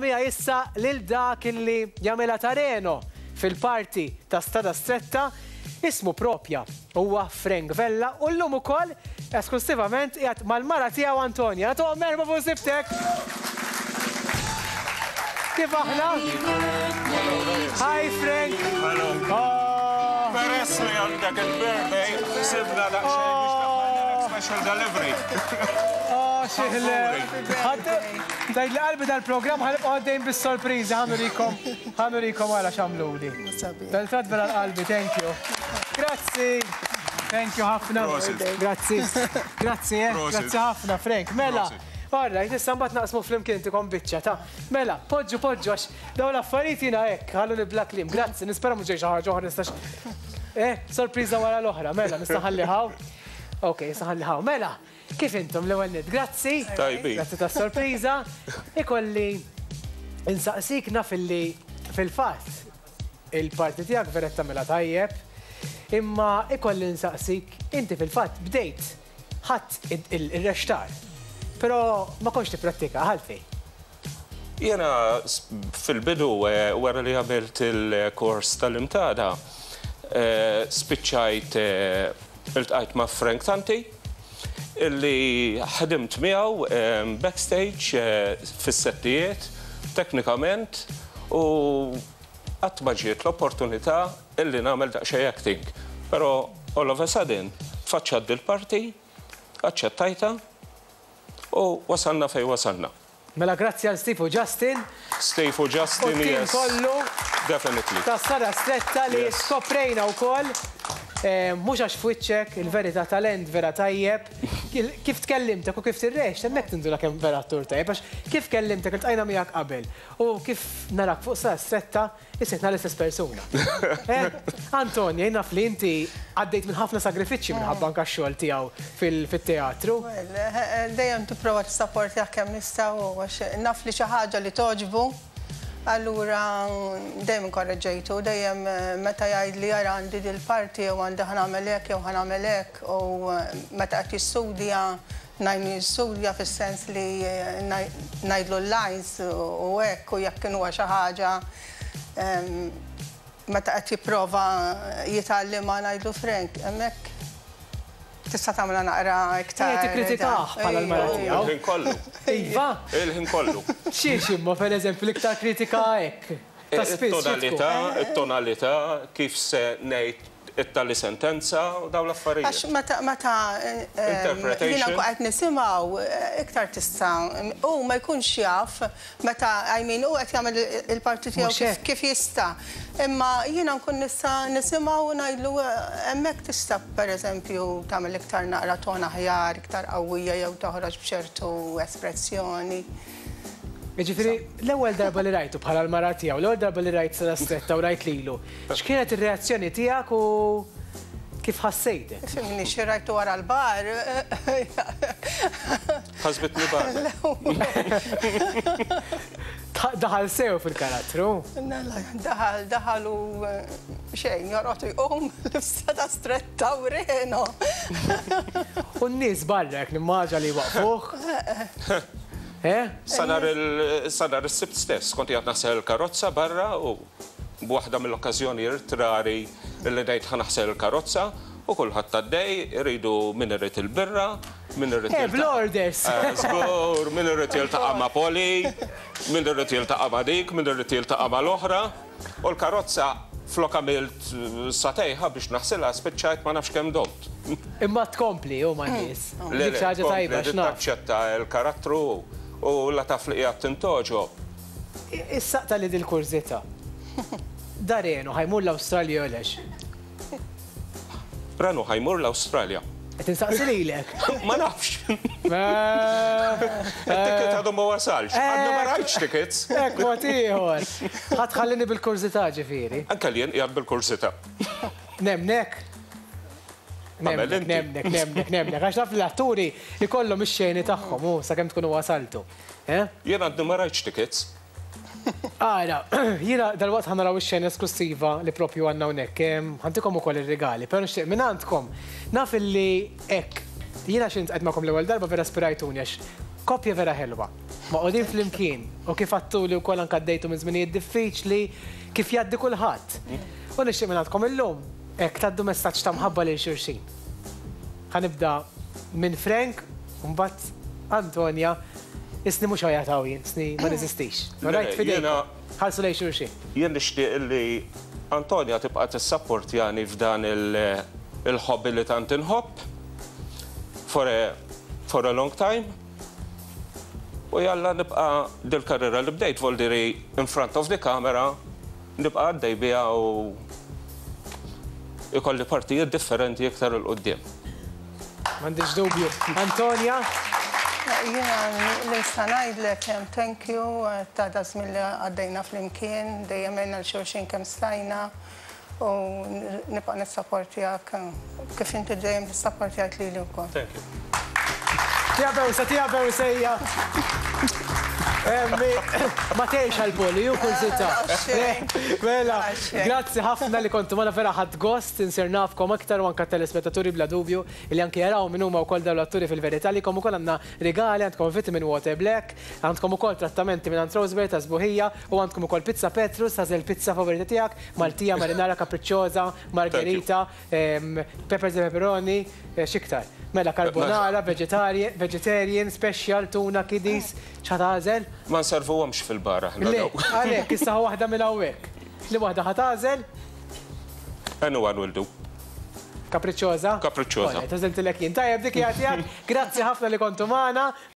Miegħi issa lil dak illi jagħmilha ta' Reno fil-parti ta' Strada Stretta, ismu propja huwa Frank Vella u llum ukoll esklussivament qiegħed mal-mara tiegħu Antonia. Nagħtuhom merħba fuq sibtek! Kif aħna? Hi Frank! Hello. Oh. Peress li għandek il-birthday, sibna daqsxejn biex daħħalna special delivery. Oh, xieħle. Tgħid li qalbi dal-programm ħa nibqgħu għaddejjin bis-sorpriżi ħa nurikom ħa nurikom ara x'għamluli. Dan trat vera l-qalbi, thank you. Grazzi. Thank you ħafna. Grazzi. Grazzi, eh. Grazzi ħafna, Frank. Mela. All right, issa mbagħad naqsmu flimkien intikom biċċa ta'. Mela, poġġu poġġu għax dawn l-affarijiet jiena hekk, ħalluni bla kliem. Grazzi, nispera mhux ġej xi ħaġa oħra nistax. Eh, sorpriża wara l-oħra, mela, nista' ħalli ħaw. Ok, nista' ħalli ħaw. Mela, Kif intom l-ewwel nett? Grazzi. Tajbin. Grazzi tas-sorpriża. Ikolli insaqsik naf illi fil-fatt il-parti tiegħek vera qed tagħmilha tajjeb, imma ikolli nsaqsik inti fil-fatt bdejt ħadt ir-rextar, però ma kontx tipprattika għalfejn? Jiena fil-bidu wara li għamilt il-kors tal-Imtada spiċċajt iltqajt ma' Frank Tanti illi ħdimt miegħu backstage fis-settijiet teknikament u qatt ma ġiet l-opportunità illi nagħmel daqsxejn acting. Però all of a sudden tfaċċat dil-parti, aċċettajtha U wasalna fejn wasalna. Mela grazzi għal Steve u Justin. Steve u Justin, yes. U t-tim kollu. Definitely. Ta' Strada Stretta li skoprejna wkoll, mhux għax f'wiċċek, il-verità talent vera tajjeb. Kif tkellimtek u kif tirrext, hemmhekk tinduna kemm vera attur tajjeb għax kif kellimtek iltqajna miegħek qabel u kif narak fuq Strada Stretta, Isitna l-istess persuna. Eh, Antonia, jien naf li inti għaddejt minn ħafna sagrifiċċji minħabba anke x-xogħol tiegħu fil-teatru. Well, dejjem tipprova tissapportjah kemm nista' u għax naf li xi ħaġa li togħġbu, allura dejjem inkorreġġejtu, dejjem meta jgħidli ara għandi dil-parti jew għandi ħa nagħmel hekk jew ħa nagħmel hekk u meta qed jistudja Ngħinu jistudja fis-sens li ngħidlu l-lines u hekk u jekk inhuwa xi ħaġa meta qed jipprova jitgħallimha ngħidlu Frank hemmhekk tista' tagħmilha naqra iktar. Qiegħed tikkritikah bħala l-mara tiegħu. Il-ħin kollu. Iva. Il-ħin kollu. Xiex imma pereżempju l-iktar kritika hekk? Ta' spiss. It-tonalità, it-tonalità, kif se ngħid it-tali sentenza u dawn l-affarijiet. Għax meta meta jiena nkun qed nisimgħu iktar tista' hu ma jkunx jaf meta I mean hu qed jagħmel il-parti tiegħu kif jista'. Imma jiena nkun nista' nisimgħu u ngħidlu hemmhekk tista' pereżempju tagħmel iktar naqra ton aħjar, iktar qawwija jew toħroġ b'ċertu espressjoni. Jiġifieri, l-ewwel darba li rajtu bħala l-mara tiegħu, l-ewwel darba li rajt Sara Stretta u rajt lilu, x'kienet ir-reazzjoni tiegħek u kif ħassejtek? Fimni, xi rajtu wara l-bar. Ħasbitni bar. Daħal sew fil-karattru. Daħal, daħal u xejn, jorqod u jqum libsa ta' Stretta u Reno. U n-nies barra hekk nimmaġa li jwaqqfuh. Eh? Sa nhar il, sa nhar is-Sibt stess kont qiegħed naħsel il-karozza barra u b'waħda mill-okkażjonijiet rari li ngħid ħa naħsel il-karozza u kulħadd għaddej, iridu min irid il-birra, min irid Eh, bl-orders! Żgur, min irid jiltaqa' ma' Polly, min irid jiltaqa' ma' dik, min irid jiltaqa' mal-oħra. U l-karozza flok għamilt sagħtejn biex naħsilha spiċċajt ma nafx kemm domt. Imma tkompli hu man-nies. Dik xi ħaġa tajba għax naf. Taċċetta l-karattru u la taf li qiegħed tintgħoġob. Issa qtagħli dil-kurżità. Da Reno ħa jmur l-Awstralja jew lex? Renu ħa jmur l-Awstralja. Qed insaqsi lilek. Ma nafx. It-ticket għadu ma wasalx. Għadni ma rajtx tickets. Hekk mod ieħor. Ħa tħallini bil-kurżità ġifieri. Anke jien qiegħed bil-kurżità. Nemnek. Nemnek, nemnek, nemnek, nemnek. Għax naf li l-atturi jkollhom ix-xeni tagħhom u sakemm tkunu wasaltu. Eh? Jien għadni ma rajtx tickets. Ara, jiena dalwaqt ħa naraw ix-xena esklussiva li propju għandna hawnhekk. Ħa ntikom ukoll ir-rigali, però nixtieq mingħandkom. Naf illi hekk, jiena xi ltqajt magħkom l-ewwel darba vera ispirajtuni għax koppja vera ħelwa. Magħqudin flimkien u kif għadtuli wkoll anke għaddejtu minn żminijiet diffiċli kif jgħaddi kulħadd. U nixtieq mingħandkom illum hekk tgħaddu messaġġ ta' mħabba lil xulxin. Ħa nibda minn Frank u mbagħad Antonia. Isni mhux għajat hawn jien, isni ma neżistix. Alright, f'idejkom. Ħarsu lejn xulxin. Jien nixtieq li Antonia tibqa' tissapportjani f'dan il-hobby li tant inħobb for a for a long time. U jalla nibqa' dil-karriera li bdejt voldiri in front of the camera nibqa' għaddej biha u ikolli partijiet differenti iktar 'il quddiem. M'għandix dubju. Antonia? Jiena li nista' ngħidlek thank you ta' daż-żmien li għaddejna flimkien, dejjem għinna 'l xulxin kemm stajna u nibqa' nissapportjak kif inti dejjem tissapportjajt lili wkoll. Thank you. Tija bewsa, tija bewsa hija. Ma tgħix għall-poli, ju kurżità. Mela, grazzi ħafna li kontu magħna vera ħadt gost insir nafkom aktar u anke t-telespettaturi bla dubju li anke jaraw min huma wkoll dawn l-atturi fil-verità għalikom ukoll għandna rigali, għandkom vitamin water black, għandkom ukoll trattamenti mingħand Roseberry ta' sbuħija u għandkom ukoll pizza Petrus, tagħżel il-pizza favorita tiegħek, Maltija, marinara, capricciosa, margherita, Peppers e pepperoni, x'iktar? Mela carbonara, vegetarian, special, tuna, kiddies, x'ħa tagħżel? Ma nservuhomx fil-bar aħna dawn. Le, għalhekk, issa ħu waħda minn hawnhekk. Li waħda ħa tagħżel? Anyone will do. Capricciosa? Capricciosa. Għażiltilek jien. Tajjeb, dik hija tiegħek. Grazzi ħafna li kontu magħna.